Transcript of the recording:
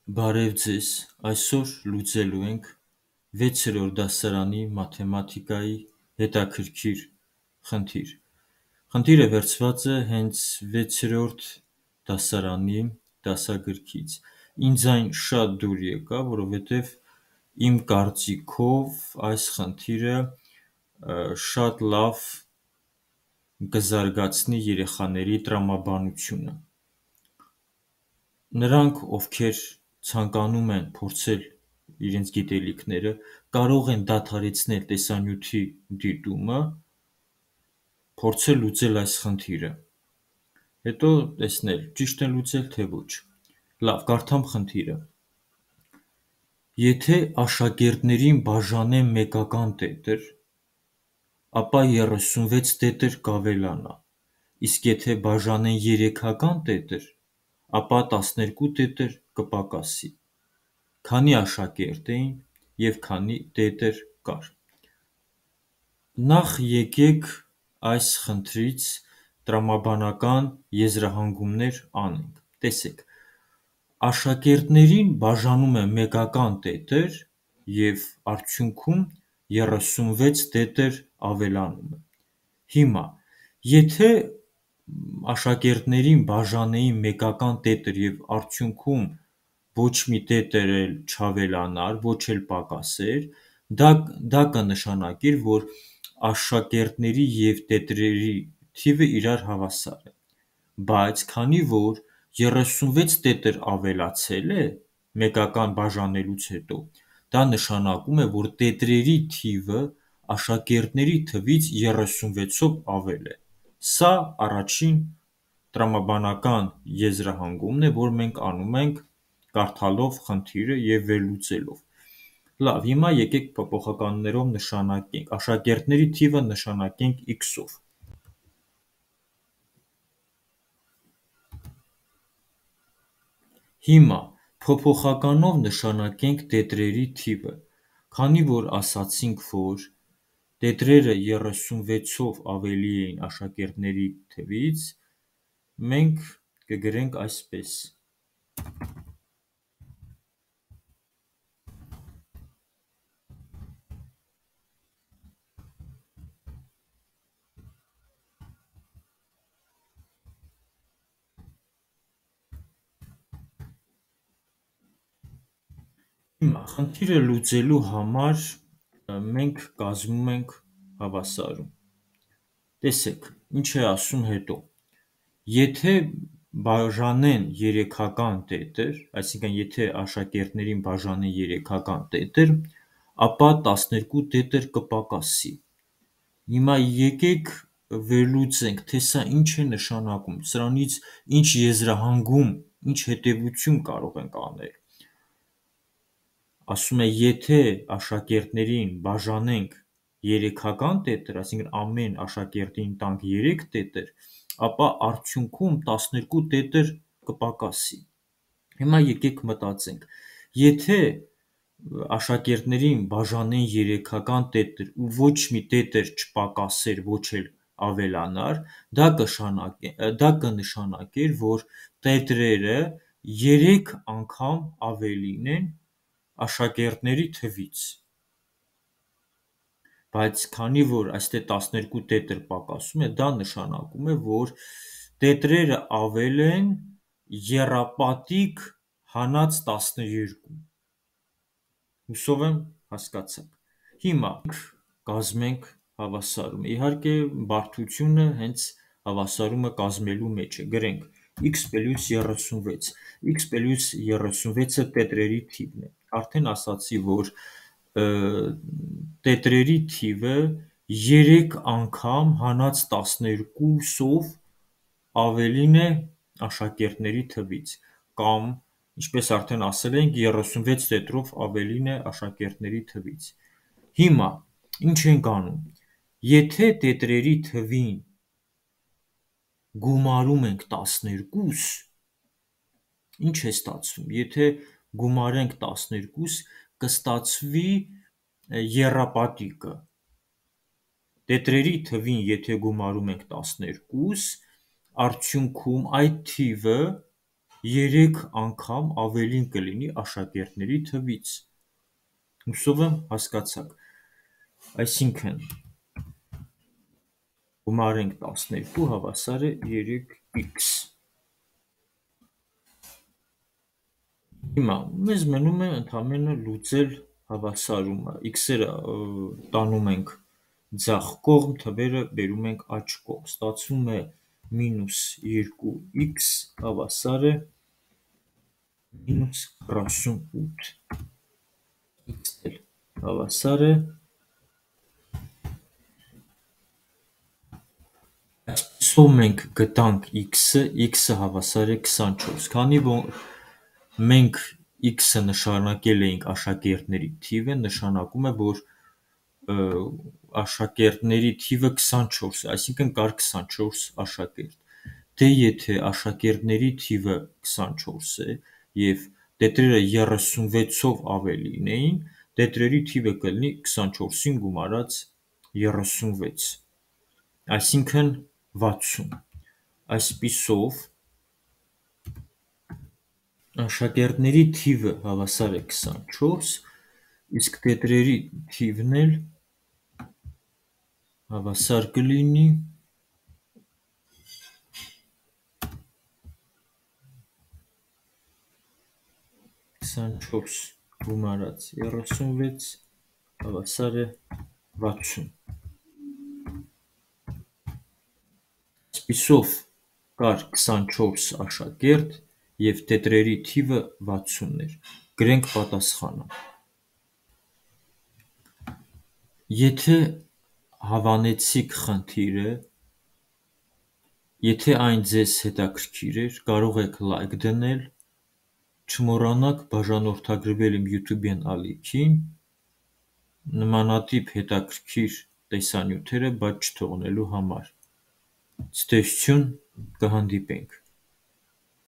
Բարև ձեզ, այսօր լուծելու ենք 6-րդ դասարանի մաթեմատիկայի հետաքրքիր խնդիր։ Խնդիրը վերցված է հենց 6-րդ դասարանի դասագրքից։ Ինձ այն շատ դուր եկավ, որովհետև իմ կարծիքով այս խնդիրը շատ լավ կզարգացնի երեխաների տրամաբանությունը։ Նրանք, ովքեր ցանկանում են փորձել իրենց գիտելիքները, կարող են դադարեցնել տեսանյութի դիտումը, փորձել լուծել այս խնդիրը, հետո տեսնել ճիշտ են լուծել, թե ոչ։ Լավ, կարդամ խնդիրը։ Եթե աշակերտներին բաժանեն մեկական տետր, ապա 36 տետր կավելանա, իսկ եթե բաժանեն երեքական տետր, ապա 12 տետր կպակասի։ Քանի աշակերտ էին և քանի տետր կար։ Նախ եկեք այս խնդրից տրամաբանական եզրահանգումներ անենք։ Տեսեք, աշակերտներին բաժանում են մեկական տետր և արդյունքում 36 տետր ավելանում է։ Հիմա, եթե աշակերտներին բաժանեին մեկական տետր և արդյունքում ոչ մի տետր էլ չավելանար, ոչ էլ պակասեր, դա կնշանակեր, որ աշակերտների և տետրերի թիվը իրար հավասար է, բայց քանի որ 36 տետր ավելացել է մեկական բաժանելուց հետո, դա նշանակում է, որ տետրերի թիվը աշակերտների թվից 36-ով ավել է։ Սա առաջին տրամաբանական եզրահանգումն է, որ մենք անում ենք կարդալով խնդիրը և վերլուծելով։ Լավ, հիմա եկեք փոփոխականներով նշանակենք, աշակերտների թիվը նշանակենք x-ով։ Հիմա փոփոխականով նշանակենք տետրերի թիվը, քանի որ ասացինք, որ տետրերը 36-ով ավելի էին աշակերտների թվից, մենք կգրենք այսպես. Հիմա խնդիրը լուծելու համար մենք կազմում ենք հավասարում։ Տեսեք, ինչ է ասում հետո։ Եթե բաժանեն երեքական տետր, այսինքն եթե աշակերտներին բաժանեն երեքական տետր, ապա 12 տետր կպակասի։ Հիմա եկեք վերլուծենք, թե սա ինչ է նշանակում, սրանից ինչ եզրահանգում, ինչ հետևություն կարող ենք անել։ Ասում է, եթե աշակերտներին բաժանենք երեքական տետր, այսինքն ամեն աշակերտին տանք 3 տետր, ապա արդյունքում 12 տետր կպակասի։ Հիմա եկեք մտածենք, եթե աշակերտներին բաժանեն երեքական տետր ու ոչ մի տետր չպակասեր, ոչ էլ ավելանար, դա կնշանակեր, որ տետրերը 3 անգամ ավելին են աշակերտների թվից, բայց քանի որ այստեղ 12 տետր պակասում է, դա նշանակում է, որ տետրերը ավել են եռապատիկ հանած 12։ Հուսով եմ հասկացաք։ Հիմա կազմենք հավասարումը։ Իհարկե, բարդությունը հենց հավասարումը կազմելու մեջ է։ Գրենք x + 36։ x + 36-ը տետրերի թիվն է։ Արդեն ասացի, որ տետրերի թիվը 3 անգամ հանած 12-ով ավելին է աշակերտների թվից, կամ, ինչպես արդեն ասել ենք, 36 տետրով ավելին է աշակերտների թվից։ Հիմա, ինչ ենք անում։ Եթե տետրերի թվին գումարում ենք 12, ինչ է ստացվում։ Եթե գումարենք 12, կստացվի եռապատիկը։ Տետրերի թվին եթե գումարում ենք 12, արդյունքում այդ թիվը 3 անգամ ավելին կլինի աշակերտների թվից։ Հուսով եմ հասկացաք։ Այսինքն գումարենք 12 հավասար է 3x։ Հիմա մեզ մնում է ընդամենը լուծել հավասարումը, x-երը տանում ենք ձախ կողմ, թվերը բերում ենք աջ կողմ, ստացվում է -2x հավասար է -48, x-ը հավասար է, այսպիսով մենք գտանք x-ը հավասար է 24, քանի որ մենք x-ը նշանակել էինք աշակերտների թիվը, նշանակում է, որ աշակերտների թիվը 24 է, այսինքն կար 24 աշակերտ։ Դե եթե աշակերտների թիվը 24 է և տետրերը 36-ով ավելին էին, տետրերի թիվը կլինի 24-ին գումարած 36, այսինքն 60։ Այսպիսով աշակերտների թիվը հավասար է 24, իսկ տետրերի թիվն էլ հավասար կլինի 24 գումարած 36 հավասար է 60։ Այսպիսով կար 24 աշակերտ և տետրերի թիվը 60 էր։ Գրենք պատասխանը։ Եթե հավանեցիք խնդիրը, եթե այն ձեզ հետաքրքիր էր, կարող եք լայք դնել, չմոռանաք բաժանորդագրվել իմ YouTube-յան ալիքին, նմանատիպ հետաքրքիր տեսանյութերը բաց չթողնելու համար։ Ցտեսություն, կհանդիպենք։